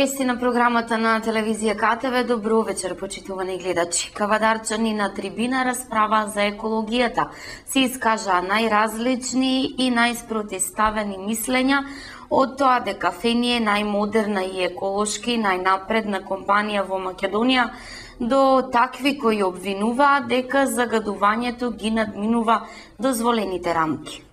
Вести на програмата на телевизија КТВ. Добро вечер, почитувани гледачи. Кавадарчани на трибина расправа за екологијата. Се искажа најразлични и најспротивставени мислења од тоа дека Фени е најмодерна и еколошки најнапредна компанија во Македонија, до такви кои обвинуваат дека загадувањето ги надминува дозволените рамки.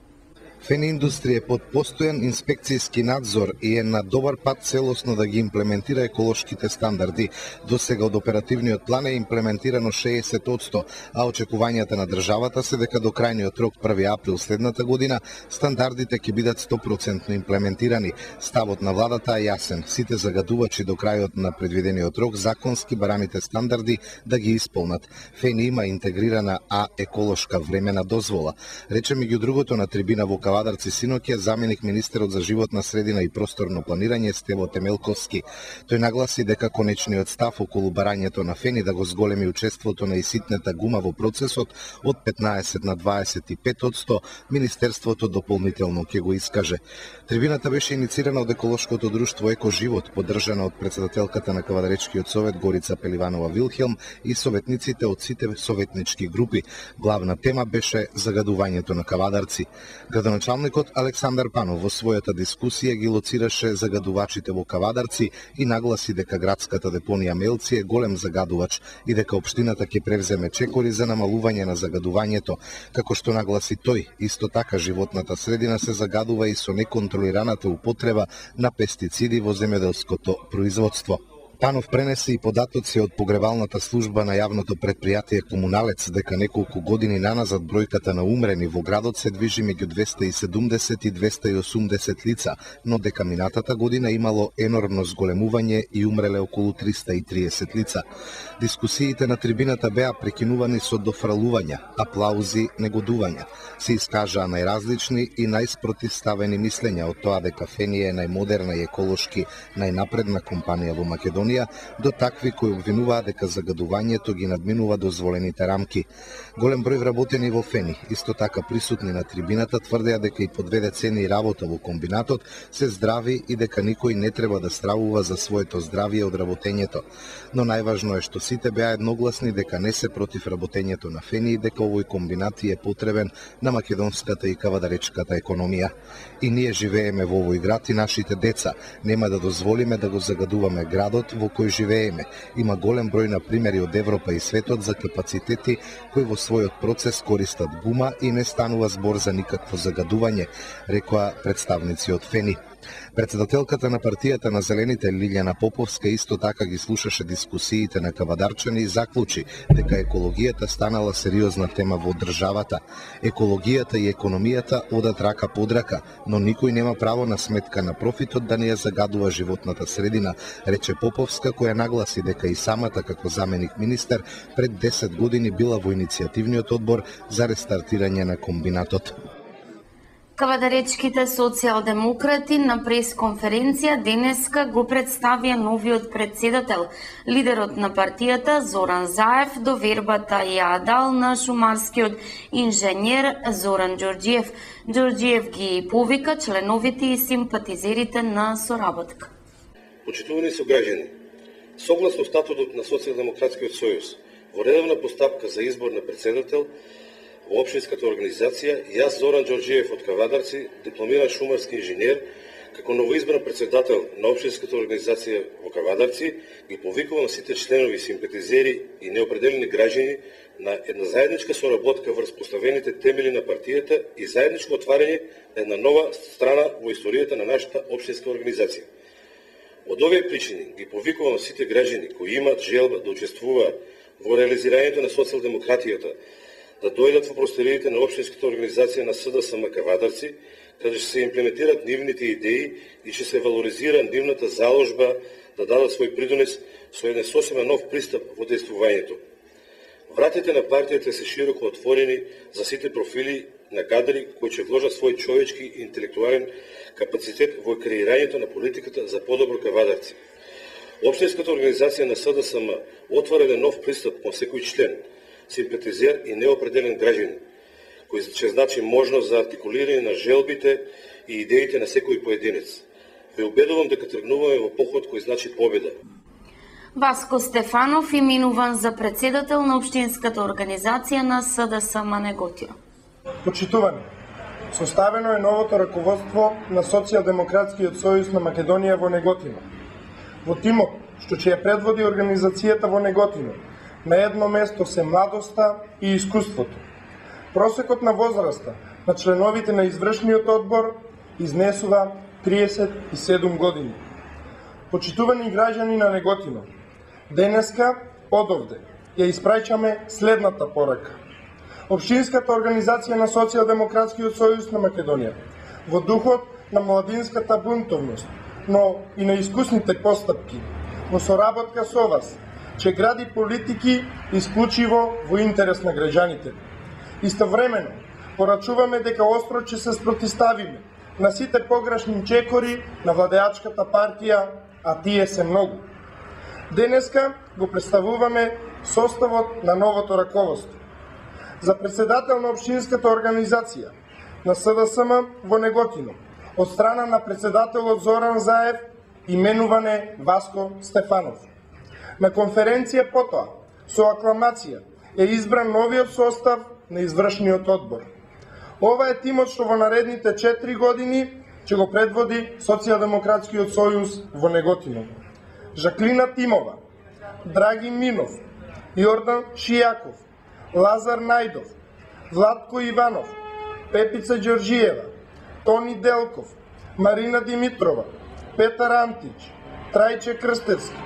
Фени индустрија е под постојан инспекцијски надзор и е на добар пат целосно да ги имплементира еколошките стандарди. До сега од оперативниот план е имплементирано 60%, а очекувањата на државата се дека до крајниот рок 1 април следната година стандардите ќе бидат 100% имплементирани. Ставот на владата е јасен. Сите загадувачи до крајот на предвидениот рок законски бараните стандарди да ги исполнат. Фени има интегрирана еколошка времена дозвола. Рече меѓу другото на трибина во Кавадарци синоќа заменик министерот за животна средина и просторно планирање Стево Темелковски. Тој нагласи дека конечниот став околу барањето на Фени да го зголеми учеството на иситната гума во процесот од 15 на 25%, министерството дополнително ќе го искаже. Трибината беше иницирана од еколошкото друштво Екоживот, поддржана од председателката на Кавадаречкиот совет Горица Пеливанова Вилхелм и советниците од сите советнички групи. Главна тема беше загадувањето на Кавадарци. Градоначалникот Александар Панов во својата дискусија ги лоцираше загадувачите во Кавадарци и нагласи дека градската депонија Мелци е голем загадувач и дека општината ќе превземе чекори за намалување на загадувањето. Како што нагласи тој, исто така животната средина се загадува и со неконтролираната употреба на пестициди во земјоделското производство. Панов пренесе и податоци од погребалната служба на јавното претпријатие Комуналец дека неколку години наназад бројката на умрени во градот се движи меѓу 270 и 280 лица, но дека минатата година имало енормно зголемување и умреле околу 330 лица. Дискусиите на трибината беа прекинувани со дофралувања, аплаузи, негодувања. Се искажаа најразлични и најспротивставени мислења од тоа дека Фени е најмодерна и еколошки најнапредна компанија во Македонија, до такви кои обвинуваат дека загадувањето ги надминува дозволените рамки. Голем број вработени во Фени, исто така присутни на трибината, тврдеа дека и по 2 децении работа во комбинатот се здрави и дека никој не треба да стравува за своето здравје од работењето. Но најважно е што сите беа едногласни дека не се против работењето на Фени и дека овој комбинат е потребен на македонската и кавадаречката економија. И ние живееме во овој град и нашите деца. Нема да дозволиме да го загадуваме градот во кој живееме. Има голем број на примери од Европа и светот за капацитети кои во својот процес користат гума и не станува збор за никакво загадување, рекоа представници од Фени. Председателката на партијата на Зелените Лилјана Поповска исто така ги слушаше дискусиите на кавадарчани и заклучи дека екологијата станала сериозна тема во државата. Екологијата и економијата одат рака под рака, но никој нема право на сметка на профитот да не ја загадува животната средина, рече Поповска, која нагласи дека и самата како заменик министер пред 10 години била во иницијативниот одбор за рестартирање на комбинатот. Кавадаречките социјалдемократи на пресконференција денеска го представија новиот председател. Лидерот на партијата Зоран Заев довербата ја дал на шумарскиот инженер Зоран Ѓорѓиев. Ѓорѓиев ги повика членовите и симпатизерите на соработка. Почитувани сограѓани, согласно статутот на Социјалдемократскиот сојуз, во редовна постапка за избор на председател во општинската организација, јас Зоран Ѓорѓиев од Кавадарци, дипломиран шумарски инженер, како новоизбран председател на општинската организација во Кавадарци, ги повикувам сите членови, симпатизери и неопределени граѓани на една заедничка соработка врз поставените темели на партијата и заедничко отварање на една нова страна во историјата на нашата општинска организација. Од овие причини ги повикувам сите граѓани кои имаат желба да учествуваат во реализирањето на социјалдемократијата, да дојдат во просториите на општинската организација на СДСМ Кавадарци, каде ќе се имплементираат нивните идеи и ќе се валоризира нивната заложба да дадат свој придонес со еден сосема нов пристап во действувањето. Вратите на партијата се широко отворени за сите профили на кадри кои ќе вложат свој човечки и интелектуален капацитет во креирањето на политиката за подобро Кавадарци. Општинската организација на СДСМ отвора еден нов пристап кон секој член, симпатизер и неопределен граѓанин, кој ќе значи можност за артикулирање на желбите и идеите на секој поединец. Ве убедувам дека тргнуваме во поход кој значи победа. Васко Стефанов именуван за председател на Општинската организација на СДСМ Неготино. Почитувани, составено е новото раководство на Социјалдемократскиот сојуз на Македонија во Неготино. Во тимот, што ќе ја предводи организацијата во Неготино, на едно место се младоста и искуството. Просекот на возраста на членовите на извршниот одбор изнесува 37 години. Почитувани граѓани на Неготино, денеска одовде ја испраќаме следната порака. Општинската организација на Социјалдемократскиот сојуз на Македонија, во духот на младинската бунтовност, но и на искусните постапки, во соработка со вас, ќе гради политики исклучиво во интерес на граѓаните. Истовремено, порачуваме дека остро ќе се спротиставиме на сите погрешни чекори на владеачката партија, а тие се многу. Денеска го представуваме составот на новото раководство. За председател на Општинската организација на СДСМ во Неготино, од страна на председателот Зоран Заев, именуван е Васко Стефанов. На конференција потоа, со акламација, е избран новиот состав на извршниот одбор. Ова е тимот што во наредните 4 години ќе го предводи Социјалдемократскиот сојуз во Неготино. Жаклина Тимова, Драги Минов, Јордан Шијаков, Лазар Најдов, Владко Иванов, Пепица Ѓорџиева, Тони Делков, Марина Димитрова, Петар Антич, Трајче Крстевски,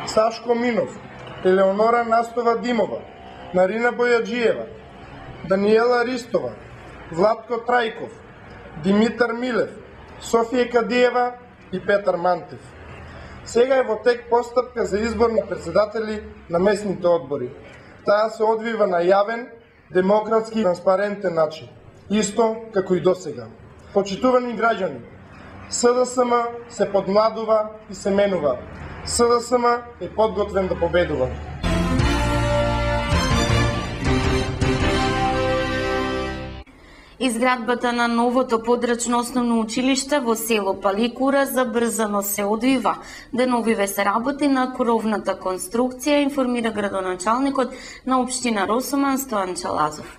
Сашко Минов, Елеонора Настова Димова, Нарина Бојаджиева, Даниела Ристова, Владко Трајков, Димитар Милев, Софија Кадиева и Петар Мантев. Сега е во тек постапка за избор на председатели на местните одбори. Таа се одвива на јавен, демократски и транспарентен начин, исто како и досега. Почитувани граѓани, СДСМ се подмладува и се менува. СДСМ е подготвен да победува. Изградбата на новото подрачно основно училиште во село Паликура забрзано се одвива. Деновиве се работи на кровната конструкција, информира градоначалникот на општина Росоман Стојан Чалазов.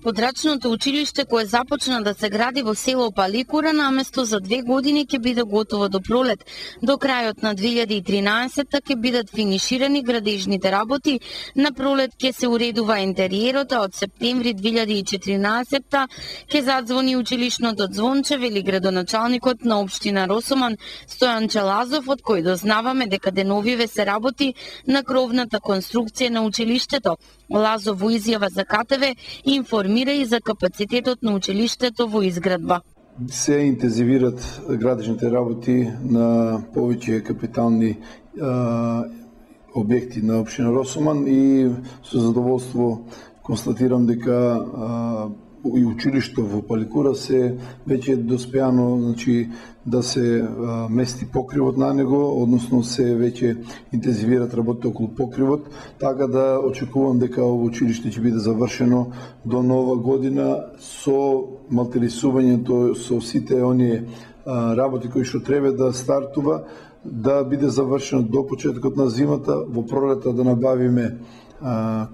Подрачното училиште кое започна да се гради во село Паликура наместо за 2 години ќе биде готово до пролет. До крајот на 2013 ќе бидат финиширани градежните работи. На пролет ќе се уредува интериерот, а од септември 2014 ќе задзвони училишното звонче, вели градоначалникот на општина Росоман Стојан Чалазов, од кој дознаваме дека деновиве се работи на кровната конструкција на училиштето. Лазов во изјава за КТВ информира и за капацитетот на училиштето во изградба. Се интензивират градежните работи на повеќе капитални објекти на општина Росоман и со задоволство констатирам дека и училишто во Паликура се веќе доспеано, значи да се мести покривот на него, односно се веќе интензивират работите околу покривот, така да очекувам дека ово училиште ќе биде завршено до нова година со малтерисувањето со сите оние работи кои што треба да стартува, да биде завршено до почетокот на зимата, во пролета да набавиме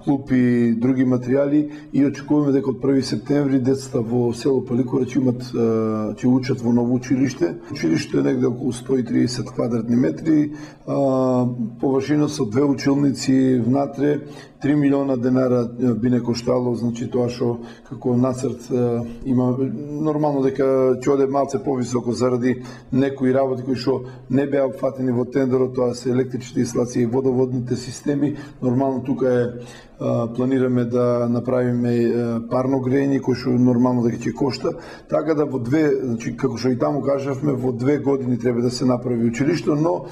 клуп и други материјали и очекуваме дека од 1 септември децата во село Паликура ќе учат во ново училиште. Училиштето е негде околу 130 квадратни метри, површина со 2 училници внатре, 3 милиона денара би не коштало, значи тоа што како нацрт има нормално дека ќе оде малце повисоко заради некои работи кои што не беа опфатени во тендерот, тоа се електричните инсталации и водоводните системи. Нормално тука планираме да направиме парно грејење кој што нормално дека ќе кошта, така да во значи како што и таму кажавме, во 2 години треба да се направи училиште, но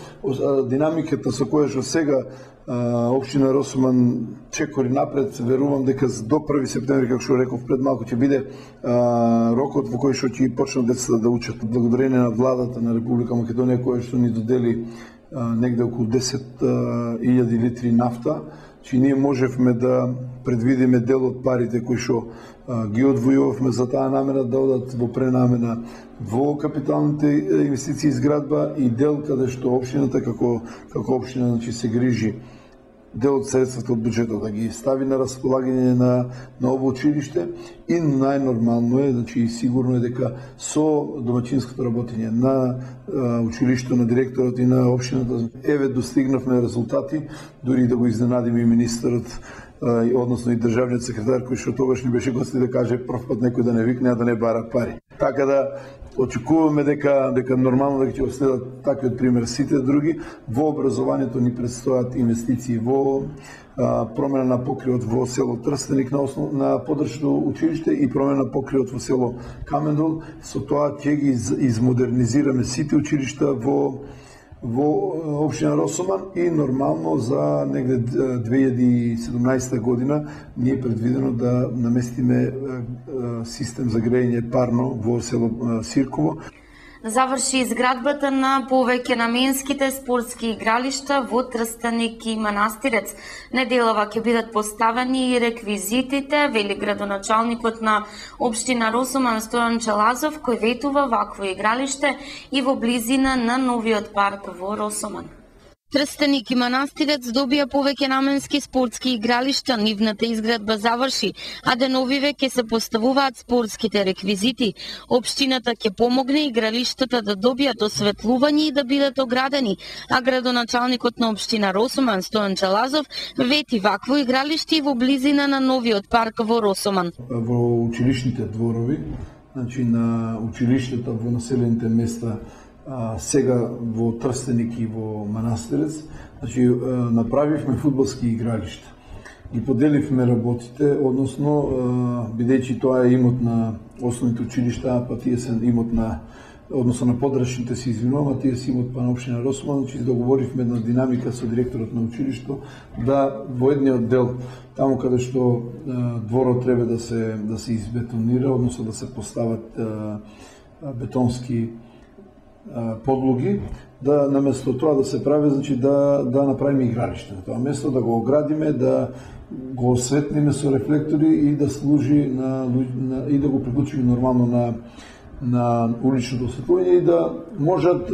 динамиката со која што сега општина Росоман чекори напред, верувам дека до 1 септември, како што реков пред малку, ќе биде рокот во кој што ќе почнат децата да учат. Благодарение на владата на Република Македонија која што ни додели негде околу 10.000 литри нафта, че ние можевме да предвидиме дел од парите кои што ги одвојувавме за таа намера да одат во пренамена во капиталните инвестиции изградба и дел каде што општината како општина значи се грижи дел од средствата од буџетот да ги стави на располагање на ово училиште и најнормално е, значи и сигурно е дека со домаќинското работење на училиштето, на директорот и на општината еве достигнавме резултати, дури да го изненадиме и министерот, односно и државниот секретар кој што тогаш ни беше гости да каже прв пат некој да не викне, а да не бара пари. Така да очекуваме дека нормално дека ќе следат таквиот пример сите други. Во образованието ни предстојат инвестиции во промена на покриот во село Трстеник на подршно училиште и промена на покриот во село Камендол. Со тоа ќе ги измодернизираме сите училишта во општина Росоман и нормално за негде 2017 година ни е предвидено да наместиме систем за грејење парно во село Сирково. Заврши изградбата на повеќе наменските спортски игралишта во Трстеник и Манастирец. Неделава ќе бидат поставени и реквизитите, вели градоначалникот на општина Росоман Стојан Челазов, кој ветува вакво игралиште и во близина на новиот парк во Росоман. Трстеник и Манастирец добија повеќе наменски спортски игралишта, нивната изградба заврши, а деновиве ќе се поставуваат спортските реквизити. Општината ќе помогне игралиштата да добијат осветлување и да бидат оградени, а градоначалникот на општина Росоман Стојан Челазов вети вакво игралиште во близина на новиот парк во Росоман. Во училишните дворови, значи на училиштата во населените места сега во Трстеник и во Манастирец, значи направивме фудбалски игралишта. Ги поделивме работите, односно бидејќи тоа е имот на основните училишта, па тие се имот на односно на подрачните се извинувам, а тие се имот па на општина Росоман, значи договоривме на динамика со директорот на училишто да во едниот дел таму каде што дворот треба да се избетонира, односно да се постават бетонски подлоги, да наместо тоа да се прави, значи да направиме игралиште. Тоа место да го оградиме, да го осветлиме со рефлектори и да служи и да го приклучиме нормално на уличното осветлување и да можат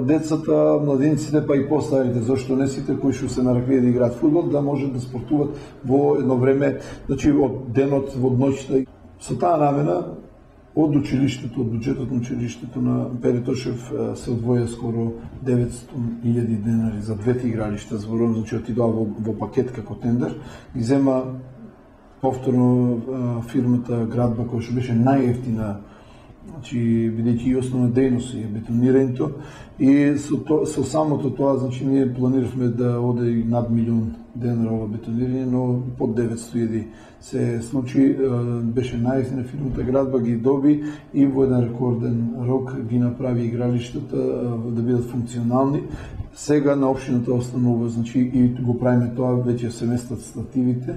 децата, младинците, па и постарите, зашто не сите кои што се наракли да играат фудбал, да можат да спортуват во едно време, значи од денот, во ноќта. Со таа намена од училиштето, од буџетот на училиштето на Пери Тошев се одвоја скоро 900.000 денари за двете игралишта, зборувам, значи отидоа во пакет како тендер, ги зема повторно фирмата Градба која што беше најевтина, значи бидејќи и основна дејност е бетонирањето и со самото тоа, значи ние планиравме да оде и над 1 милион денара ова бетонирање, но под 900.000 се случи, беше најефтина фирмата Градба, ги доби и во еден рекорден рок ги направи игралиштата да бидат функционални. Сега на општината останува, значи и го правиме тоа, веќе се местат стативите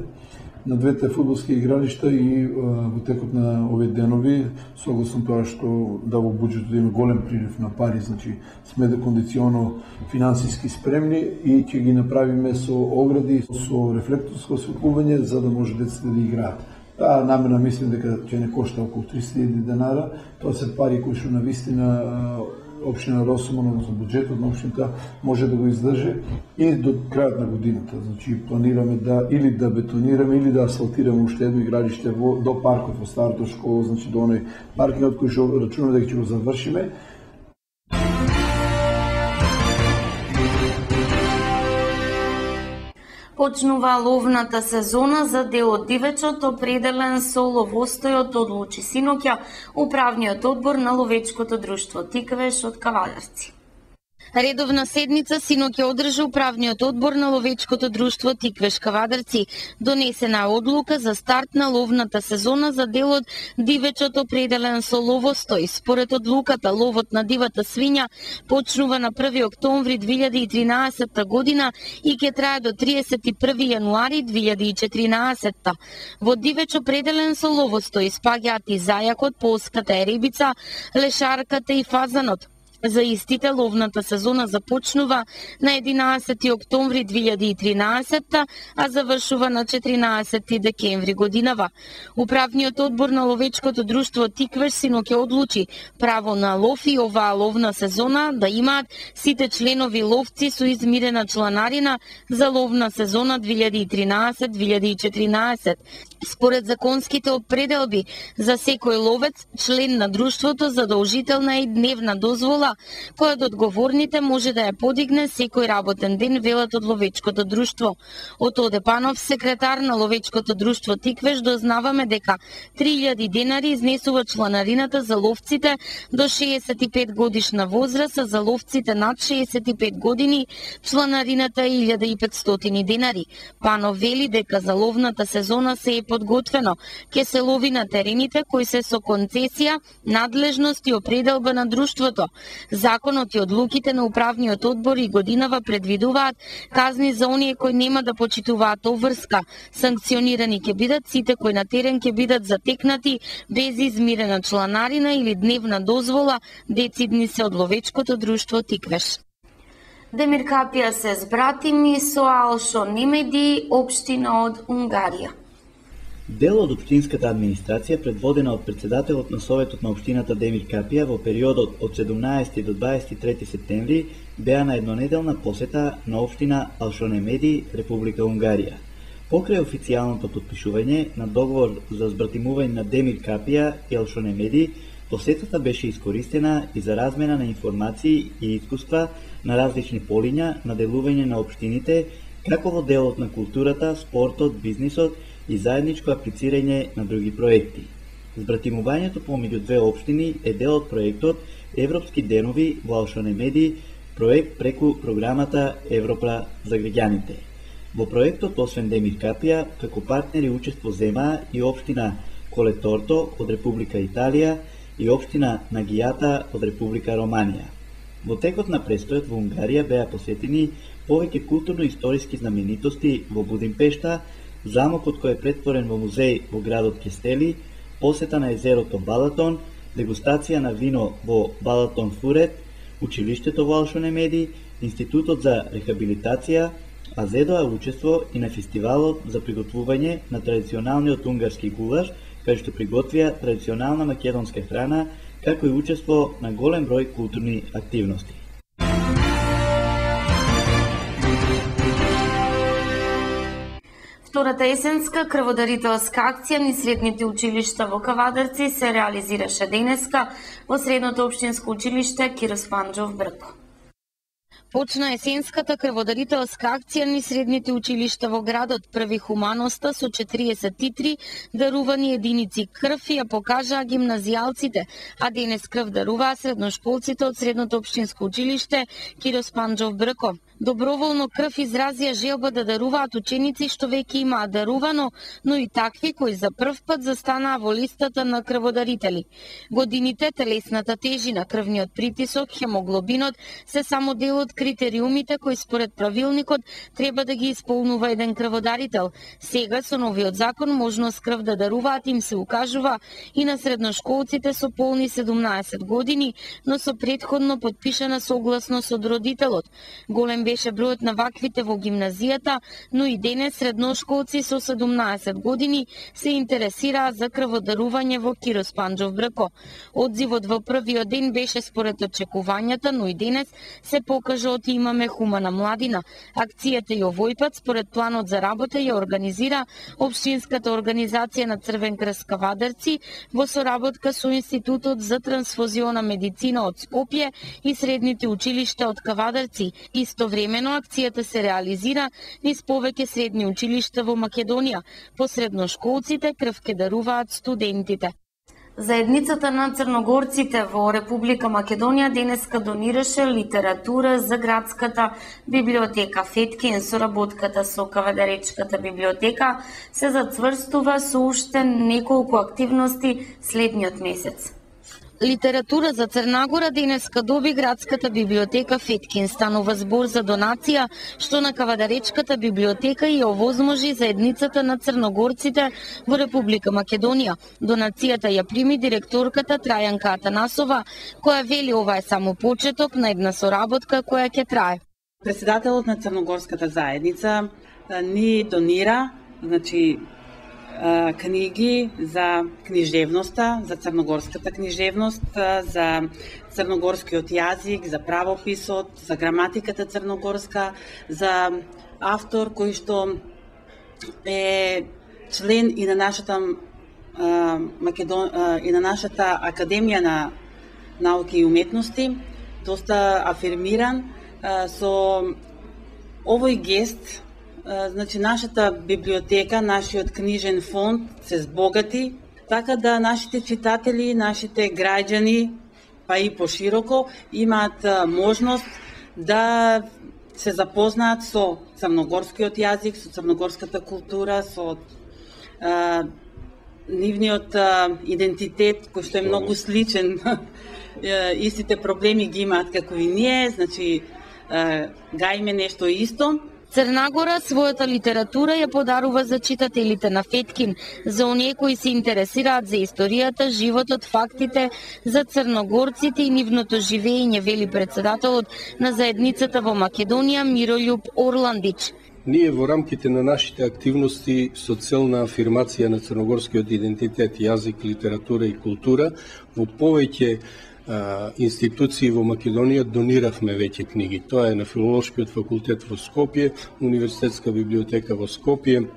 на двете фудбалски игралишта и во текот на овие денови, согласно тоа што да во буџетот има голем прилив на пари, значи сме кондиционно финансиски спремни и ќе ги направиме со огради, со рефлекторско осветлување за да може децата да играат. Таа намена мислам дека ќе не кошта околу 300.000 денара, тоа се пари кои што навистина општина Росоман, односно буџетот на општината може да го издржи и до крајот на годината. Значи планираме да или да бетонираме или да асфалтираме уште едно игралиште до паркот во старата школа, значи до оној паркингот кој што рачунаме дека ќе го завршиме. Почнува ловната сезона за дел од дивечот, определен со ловостојот, одлучи синоќа управниот одбор на ловечкото друштво Тиквеш од Кавадарци. Редовна седница синоќа одржа управниот одбор на ловечкото друштво Тиквеш Кавадарци. Донесена одлука за старт на ловната сезона за делот дивечот определен со ловостој. Според одлуката, ловот на дивата свиња почнува на 1 октомври 2013 година и ќе трае до 31 јануари 2014. Во дивеч определен со ловостој спаѓаат и зајакот, полската еребица, лешарката и фазанот. За истите ловната сезона започнува на 11 октомври 2013, а завршува на 14 декември годинава. Управниот одбор на ловечкото друштво Тиквеш синоќе одлучи право на лов и оваа ловна сезона да имаат сите членови ловци со измирена чланарина за ловна сезона 2013-2014. Според законските определби за секој ловец, член на друштвото, задолжителна е дневна дозвола, која од одговорните може да ја подигне секој работен ден, велат од ловечкото друштво. Од Оде Панов, секретар на ловечкото друштво Тиквеш, дознаваме дека 3000 денари изнесува чланарината за ловците до 65 годишна возраст, а за ловците над 65 години чланарината е 1500 денари. Панов вели дека за ловната сезона се е подготвено, ке се лови на терените кои се со концесија, надлежност и определба на друштвото. Законот и одлуките на управниот одбор и годинава предвидуваат казни за оние кои нема да почитуваат обврска. Санкционирани ќе бидат сите кои на терен ќе бидат затекнати без измирена чланарина или дневна дозвола, децидни се од ловечкото друштво Тиквеш. Демир Капија се збратими со Алшо Немеди, општина од Унгарија. Дел од општинската администрација, предводена од председателот на Советот на општината Демир Капија во периодот од 17 до 23 септември, беа на еднонеделна посета на општина Алшо-Немеди, Република Унгарија. Покрај официјалното потпишување на договор за збратимување на Демир Капија и Алшо-Немеди, посетата беше искористена и за размена на информации и искуства на различни полиња на делување на општините, како во делот на културата, спортот, бизнисот и заедничко аплицирање на други проекти. Збратимувањето помеѓу две општини е дел од проектот Европски денови во Алшо-Немеди, проект преку програмата Европа за граѓаните. Во проектот, освен Демир Капија, како партнери учество земаа и општина Колеторто од Република Италија и општина Нагијата од Република Романија. Во текот на престојот во Унгарија беа посетени повеќе културно-историски знаменитости во Будимпешта, замокот кој е претворен во музеј во градот Кестели, посета на езерото Балатон, дегустација на вино во Балатон Фурет, училиштето во Алшо-Немеди, Институтот за рехабилитација, а зедоа учество и на фестивалот за приготвување на традиционалниот унгарски гулаш, кај што приготвија традиционална македонска храна, како и учество на голем број културни активности. Втората есенска крводарителска акција низ средните училишта во Кавадарци се реализираше денеска во средното општинско училиште Кирос Панџов Брко. Почна есенската крводарителска акција низ средните училишта во градот. Први хуманоста со 43 дарувани единици крв ја покажаа гимназијалците, а денес крв даруваа средношколците од средното општинско училиште Кирос Панџов Брко. Доброволно крв изразија желба да даруваат ученици што веќе имаат дарувано, но и такви кои за прв пат застанаа во листата на крводарители. Годините, телесната тежина, крвниот притисок, хемоглобинот се само дел од критериумите кои според правилникот треба да ги исполнува еден крводарител. Сега со новиот закон можност крв да даруваат им се укажува и на средношколците со полни 17 години, но со претходно подпишана согласност од родителот. Голем беше бројот на ваквите во гимназијата, но и денес средношколци со 17 години се интересираа за крводарување во Кирос Панџов Брко. Одзивот во првиот ден беше според очекувањата, но и денес се покажа од имаме хумана младина. Акцијата и овој пат според планот за работа ја организира Општинската организација на Црвен крст Кавадарци во соработка со Институтот за трансфузиона медицина од Скопје и средните училишта од Кавадарци. Истовремено акцијата се реализира низ повеќе средни училишта во Македонија. По средношколците крв ке даруваат студентите. Заедницата на црногорците во Република Македонија денеска донираше литература за градската библиотека Феткин. Соработката со Кавадаречката библиотека се зацврстува со уште неколку активности следниот месец. Литература за Црнагора денеска доби градската библиотека Феткин. Станува збор за донација што на Кавадаречката библиотека и овозможи заедницата на црногорците во Република Македонија. Донацијата ја прими директорката Трајанка Атанасова, која вели ова е само почеток на една соработка која ќе трае. Председателот на Црногорската заедница ни донира, книги за книжевноста, за црногорската книжевност, за црногорскиот јазик, за правописот, за граматиката црногорска, за автор кој што е член и на нашата и на нашата Академија на науки и уметности, доста афирмиран. Со овој гест, нашата библиотека, нашиот книжен фонд се збогати, така да нашите читатели, нашите граѓани, па и пошироко, имаат можност да се запознаат со црногорскиот јазик, со црногорската култура, со нивниот идентитет, кој што е многу сличен. Истите проблеми ги имаат како и ние, гајме нешто исто. Црнагора својата литература ја подарува за читателите на Феткин, за оние кои се интересираат за историјата, животот, фактите, за црногорците и нивното живење, вели председателот на заедницата во Македонија Мирољуб Орландич. Ние во рамките на нашите активности со цел на афирмација на црногорскиот идентитет, јазик, литература и култура, во повеќе институции во Македонија дониравме веќе книги. Тоа е на Филолошкиот факултет во Скопје, Универзитетска библиотека во Скопје,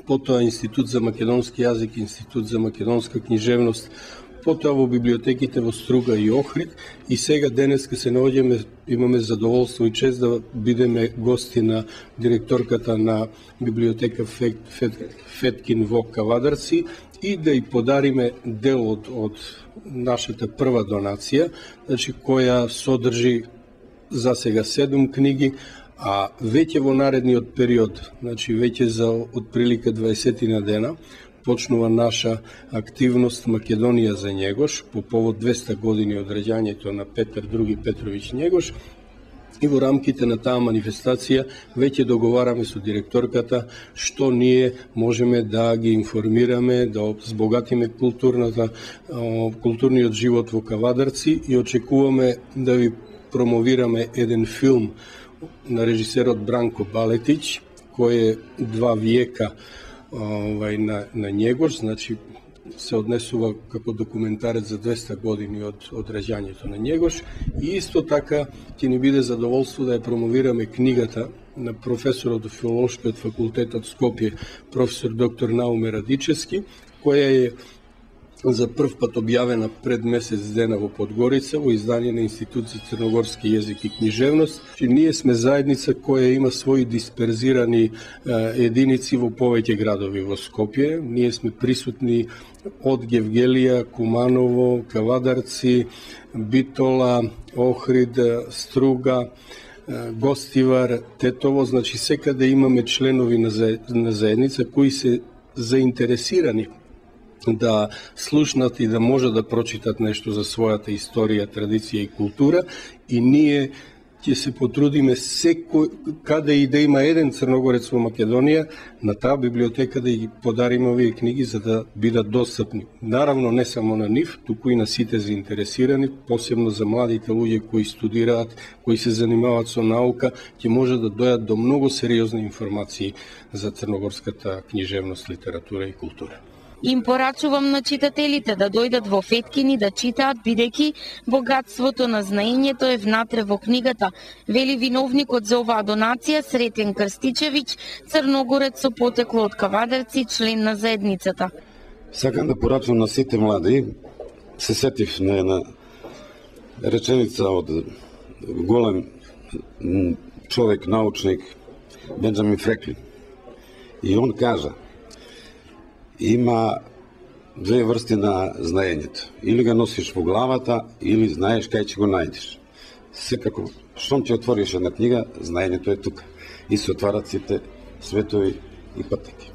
потоа Институт за македонски јазик, Институт за македонска книжевност, потоа во библиотеките во Струга и Охрид, и сега денеска се наоѓаме, имаме задоволство и чест да бидеме гости на директорката на библиотека Феткин во Кавадарци и да и подариме дел од нашата прва донација, која содржи за сега 7 книги, а веќе во наредниот период, веќе за отприлика 20 на дена, почнува наша активност Македонија за Његош по повод 200 години од раѓањето на Петар II Петровиќ Његош. И во рамките на таа манифестација веќе договараме со директорката што ние можеме да ги информираме, да збогатиме културниот живот во Кавадарци и очекуваме да ви промовираме еден филм на режисерот Бранко Балетич, кој е 2 виека на Његош, се однесува како документарец за 200 години од раѓањето на Његош, и исто така ќе ни биде задоволство да ја промовираме книгата на професорот од Филолошкиот факултет од Скопје, професор доктор Науме Радичевски, која е за прв пат објавена пред месец дена во Подгорица во издание на Институт за црногорски јазик и книжевност. Ние сме заедница која има своји дисперзирани единици во повеќе градови во Скопје. Ние сме присутни од Гевгелија, Куманово, Кавадарци, Битола, Охрид, Струга, Гостивар, Тетово, секаде имаме членови на заедница кои се заинтересирани да слушнат и да може да прочитат нешто за својата историја, традиција и култура, и ние ќе се потрудиме секој, каде и да има еден црногорец во Македонија, на таа библиотека да ги подариме овие книги за да бидат достапни. Наравно не само на нив, туку и на сите заинтересирани, посебно за младите луѓе кои студираат, кои се занимаваат со наука, ќе може да дојат до многу сериозни информации за црногорската книжевност, литература и култура. Им порачувам на читателите да дојдат во Феткин и да читаат, бидејќи богатството на знаењето е внатре во книгата, вели виновникот за оваа донација Сретен Крстичевиќ, црногорец со потекло од Кавадарци, член на заедницата. Сакам да порачувам на сите млади. Се сетив на една реченица од голем човек, научник, Бенџамин Франклин. И он кажа: има две врсти на знаењето. Или го носиш во главата, или знаеш кај ќе го најдеш. Секако, штом ќе отвориш една книга, знаењето е тука. И се отварат сите светови и патеки.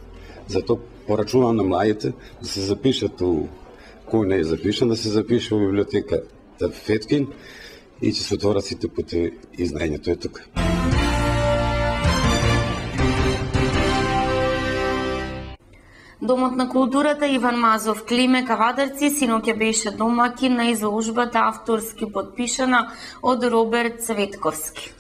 Затоа порачувам на младите да се запишат у кој не е запишан, да се запише во библиотеката Феткин и ќе се отворат сите путеви и знаењето е тука. Домот на културата Иван Мазов Климе Кавадарци синоќа беше домакин на изложбата авторски подпишана од Роберт Цветковски.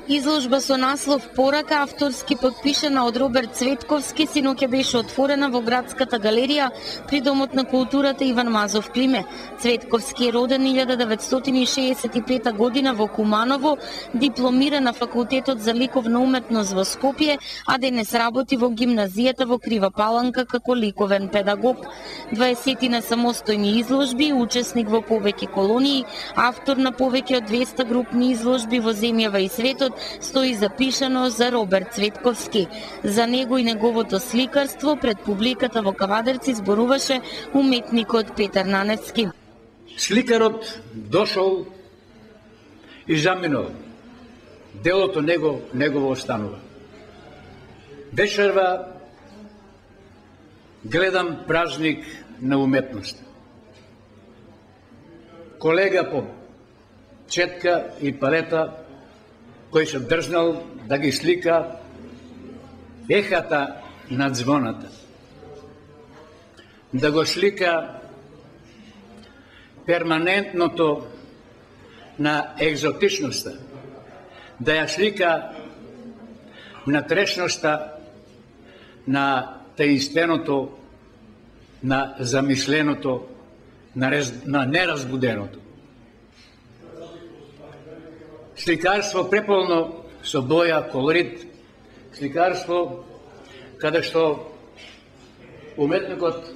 Изложба со наслов Порака авторски подпишана од Роберт Цветковски синоќа беше отворена во градската галерија при Домот на културата Иван Мазов Климе. Цветковски е роден 1965 година во Куманово, дипломира на Факултетот за ликовна уметност во Скопје, а денес работи во гимназијата во Крива Паланка како ликовен педагог. 20 на самостојни изложби, учесник во повеќе колонии, автор на повеќе од 200 групни изложби во земјава и светот, стои запишано за Роберт Цветковски. За него и неговото сликарство пред публиката во Кавадарци зборуваше уметникот Петар Наневски. Сликарот дошол и заминал. Делото негово останува. Вечерва гледам празник на уметност. Колега по четка и палета кој се дрзнал да ги слика ехата на звоната, да го слика перманентното на екзотичноста, да ја слика натрешноста на таинственото, на замисленото, на неразбуденото. Сликарство преполно со боја, колорит, сликарство каде што уметникот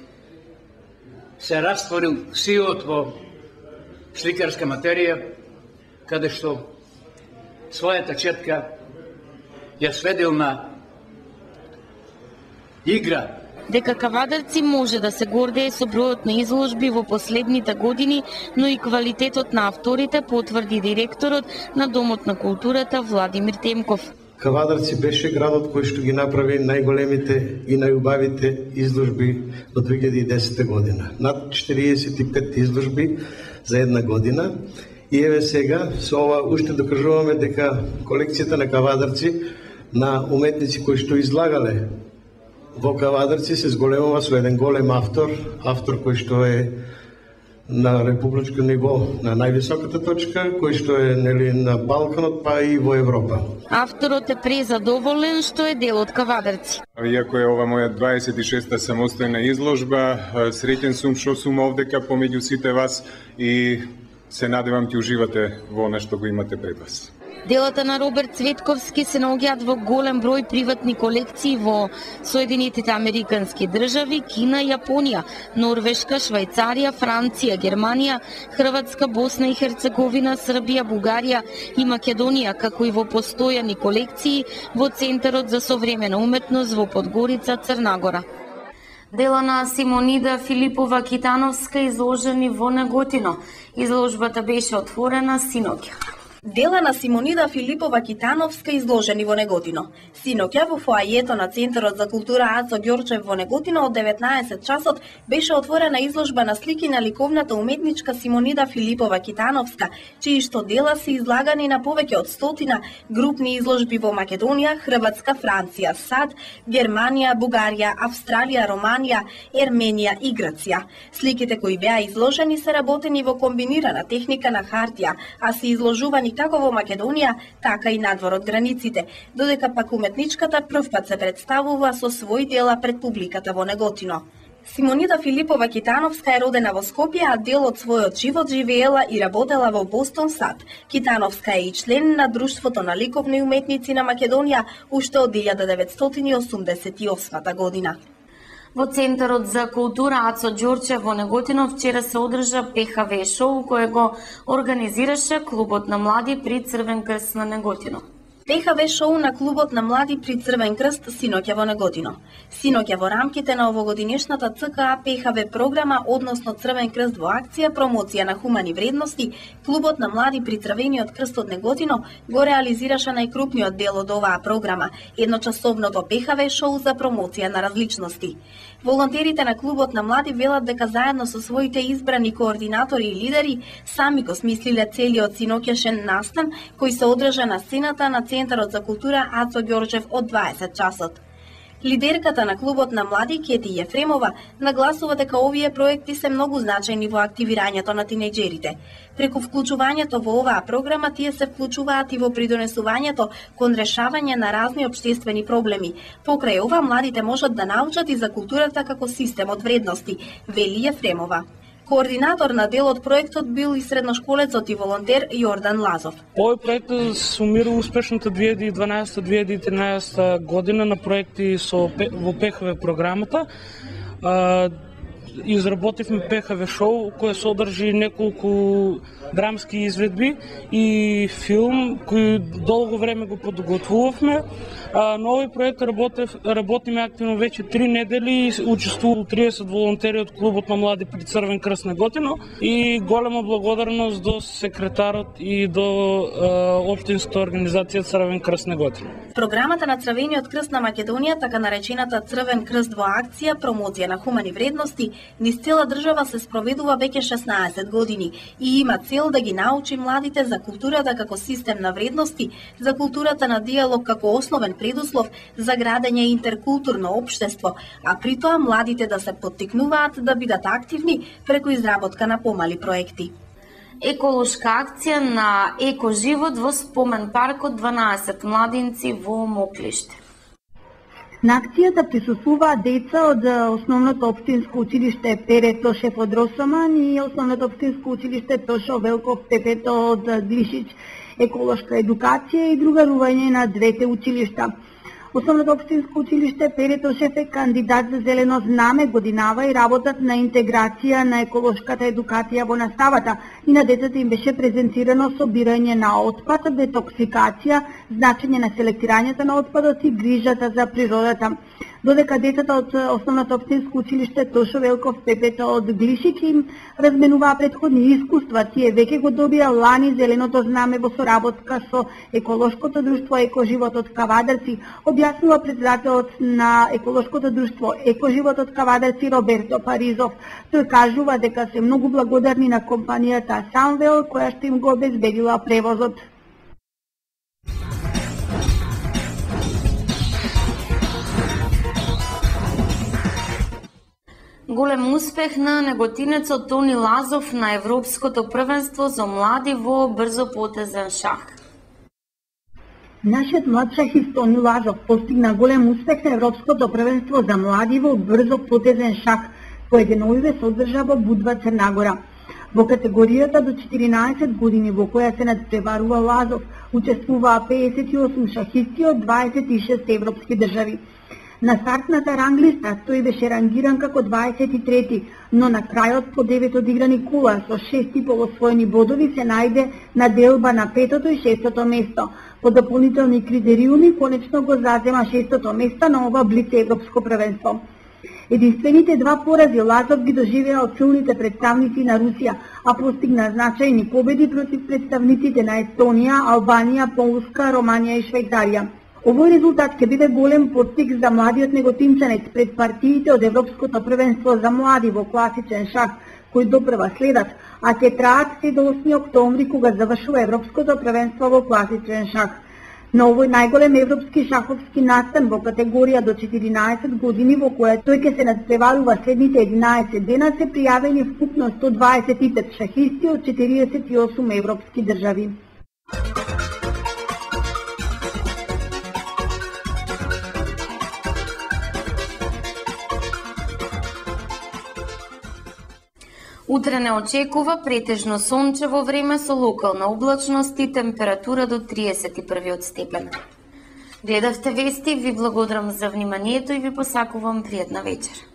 се растворил силот во сликарска материја, каде што својата четка ја сведил на игра. Дека Кавадарци може да се гордее со бројот на изложби во последните години, но и квалитетот на авторите, потврди директорот на Домот на културата Владимир Темков. Кавадарци беше градот кој што ги направи најголемите и најубавите изложби до 2010 година. Над 45 изложби за една година. И еве сега, со ова уште докажуваме дека колекцијата на Кавадарци на уметници кои што излагале во Кавадарци се зголемува со еден голем автор кој што е на републичко ниво, на највисоката точка, кој што е на Балканот, па и во Европа. Авторот е презадоволен што е дел од Кавадарци. Иако е ова моја 26-та самостојна изложба, среќен сум што сум овдека помеѓу сите вас и се надевам ќе уживате во она што го имате пред вас. Делата на Роберт Цветковски се наоѓаат во голем број приватни колекции во Соединетите Американски држави, Кина, Јапонија, Норвешка, Швајцарија, Франција, Германија, Хрватска, Босна и Херцеговина, Србија, Бугарија и Македонија, како и во постојани колекции во Центарот за современа уметност во Подгорица, Црна Гора. Дела на Симонида Филипова Китановска изложени во Неготино. Изложбата беше отворена синоќа. Дела на Симонида Филипова Китановска изложени во Неготино. Синоќа во фоајето на Центарот за култура Ацо Ѓорчев во Неготино од 19 часот беше отворена изложба на слики на ликовната уметничка Симонида Филипова Китановска, чии што дела се излагани на повеќе од 100 групни изложби во Македонија, Хрватска, Франција, САД, Германија, Бугарија, Австралија, Романија, Ерменија и Грција. Сликите кои беа изложени се работени во комбинирана техника на хартија, а се изложувани како во Македонија, така и надвор од границите, додека пак уметничката првпат се представува со свои дела пред публиката во Неготино. Симонида Филипова Китановска е родена во Скопје, а дел од својот живот живеела и работела во Бостон, САД. Китановска е и член на Друштвото на ликовни уметници на Македонија уште од 1988 година. Во Центарот за култура Ацо Ѓорчев во Неготино вчера се одржа ПХВ шоу кое го организираше Клубот на млади при Црвен крст на Неготино. ПХВ шоу на клубот на млади при Црвен крст синоќа во Неготино. Синоќа во рамките на овогодинешната ЦКА ПХВ програма, односно Црвен крст во акција промоција на хумани вредности, клубот на млади при Црвениот крст од Неготино го реализираше најкрупниот дел од оваа програма, едночасовното ПХВ шоу за промоција на различности. Волонтерите на клубот на млади велат дека заедно со своите избрани координатори и лидери сами го смислиле целиот синоќашен настан кој се одржа на сцената на Центарот за култура Ацо Ѓорчев од 20 часот. Лидерката на клубот на млади Кети Јефремова нагласува дека овие проекти се многу значајни во активирањето на тинејџерите. Преку вклучувањето во оваа програма тие се вклучуваат и во придонесувањето кон решавање на разни општествени проблеми. Покрај ова младите можат да научат и за културата како систем од вредности, вели Јефремова. Координатор на дел од проектот бил и средношколецот и волонтер Јордан Лазов. Овој проект сумира успешната 2012-2013 година на проекти во ПХВ програмата. Изработивме ПХВ шоу кој содржи неколку драмски изведби и филм кој долго време го подготвувавме. На овој проект работиме активно веќе 3 недели и учествуваа 30 волонтери од клубот на млади при Црвен крст Неготино и голема благодарност до секретарот и до општинската организација Црвен крст Неготино. Програмата на Црвениот крст на Македонија, така наречената Црвен крст во акција промоција на хумани вредности, низ цела држава се спроведува веќе 16 години и има цел да ги научи младите за културата како систем на вредности, за културата на диалог како основен предуслов за градење интеркултурно општество, а при тоа младите да се поттикнуваат да бидат активни преку изработка на помали проекти. Еколошка акција на екоживот во спомен паркот 12 младинци во Моклиште. На акцијата присуствуваат деца од Основното општинско училиште Пере Тошев од Росоман и Основното општинско училиште Тошо Велков Пепето од Глишич, еколошка едукација и другарување на двете училишта. Основното општинско училиште Пере Тошев е кандидат за зелено знаме годинава и работат на интеграција на еколошката едукација во наставата и на децата им беше презентирано собирање на отпад, детоксикација, значење на селектирањето на отпадот и грижата за природата. Додека децата од Основното општинско училиште Тошо Велков Пепето од Глишич им разменуваа претходни искуства, тие веќе го добија лани зеленото знаме во соработка со еколошкото друштво Екоживот од Кавадарци, објаснува председателот на еколошкото друштво Екоживот од Кавадарци Роберто Паризов. Тој кажува дека се многу благодарни на компанијата Самвел која што им го обезбедила превозот. Голем успех на неготинецот Тони Лазов на Европското првенство за млади во брзопотезен шах. Нашиот млад шахист Тони Лазов постигна голем успех на Европското првенство за млади во брзопотезен шах, кој деновиве се одржа во Будва, Црнагора. Во категоријата до 14 години во која се надпреварува Лазов, учествуваа 58 шахисти од 26 европски држави. На стартната ранглиста тој беше рангиран како 23, но на крајот по 9 одиграни кола со 6 полосвоени бодови се најде на делба на 5-то и 6-то место. По дополнителни критериуми конечно го зазема 6-то место на ова блиц европско првенство. Единствените два порази Лазов ги доживеа од силните представници на Русија, а постигна значајни победи против представниците на Естонија, Албанија, Полска, Романија и Швајцарија. Овој резултат ќе биде голем поттик за младиот неготинчанец пред партиите од Европското првенство за млади во класичен шах, кои допрва следат, а ќе траат се до 8 октомври кога завршува Европското првенство во класичен шах. На овој најголем европски шаховски настан во категорија до 14 години во која тој ќе се надпреварува следните 11 дена се пријавени вкупно 125 шахисти од 48 европски држави. Утре не очекува претежно сончево време со локална облачност и температура до 31 степен. Гледавте вести, ви благодарам за вниманието и ви посакувам пријатна вечер.